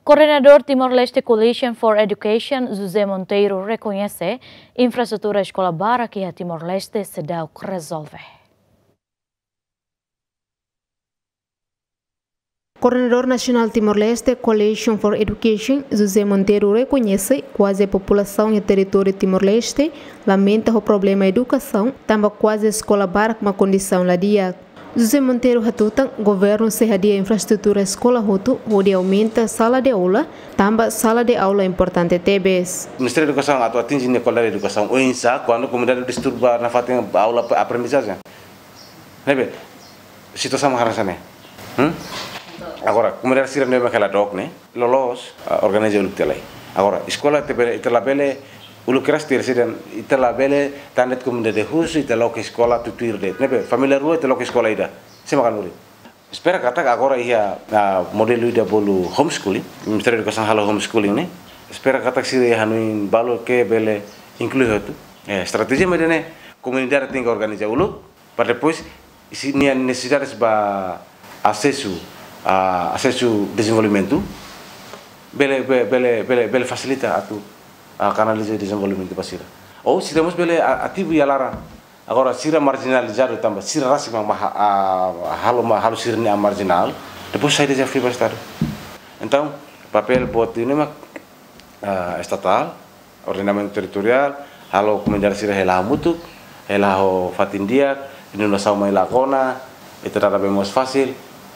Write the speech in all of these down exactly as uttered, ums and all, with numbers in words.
Koordenadór Timor-Leste Coalition for Education, José Monteiro, rekoñese infraestrutura eskola barak iha Timor-Leste seidauk rezolve. Koordenadór Nasionál Timor-Leste Coalition for Education, José Monteiro, rekoñese kuaze populasaun iha territóriu Timor-Leste lamenta ho problema edukasaun, tanba kuaze eskola barak mak kondisaun la di'ak. José Monteiro hatutan, governu sei hadi'a infraestrutura eskola hotu, hodi aumenta sala de aula, tanba sala de aula importante tebes. Ministériu Edukasaun atu atinje nia kualidade edukasaun oinsá, kuandu komunidade disturba nafatin aula, aprendizajen. Ne'ebé, situasaun mak hanesan ne'e. Hmm? Agora, komunidade sira ne'ebé hela dook ne'e, loloos, ah, organiza uluk tiha lai. Agora, eskola ita bele, ita labele, uluk keras tiha sira, ita labele, tan de'it komunidade husi, ita loke eskola tutuir de'it. Ne'ebé, família rua, ita loke eskola ida. Sé mak hanorin. Espera katak agora iha, ah, modelu ida bolu homeschooling, Ministériu Edukasaun halo homeschooling ne'e. Espera katak sira iha hanoin balu ke bele inklui hotu. Eh, estratéjia mak ida-ne'e, komunidade tenke organiza uluk, para depois, se nia nesesidade ba asesu, ah, asesu dezenvolvimentu, bele, be-, bele, bele, bele fasilita atu, ah, kanaliza dezenvolvimentu ba sira. Ou sira mós bele, ah, ativu iha laran. Agora, sira marjinalizadu tanba sira rasik mak, mak, ah, halo, mak halo sira-nia an marjinál, depois sai dezafiu ba Estadu. Entaun, papél boot ida-ne'e mak, ah, estatál, ordenamentu territoriál, halo komunidade sira hela hamutuk, hela ho fatin di'ak, inundasaun mai lakona, ita dada bee mós fasil,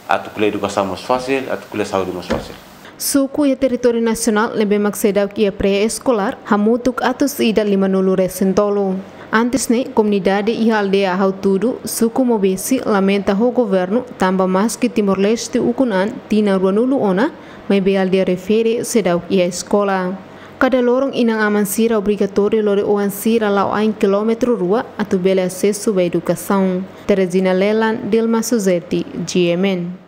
atu ko'alia edukasaun mós fasil, atu ko'alia saúde mós fasil. Suku iha territóriu nasionál ne'ebé mak seidauk iha pré-eskolár, hamutuk atus ida limanulu-resin-tolu. Antes ne'e, komunidade iha aldeia Hautudu, suku Maubesse, lamenta ho governu, tanba maski Timor-Leste ukun an tinan ruanulu ona, maibé aldeia refere seidauk iha eskola. Kada loron inan-aman sira obrigatóriu lori oan sira la'o ain kilómetru rua atu bele asesu ba edukasaun. Teresina Lelan, Dilma Suzeti, G M N.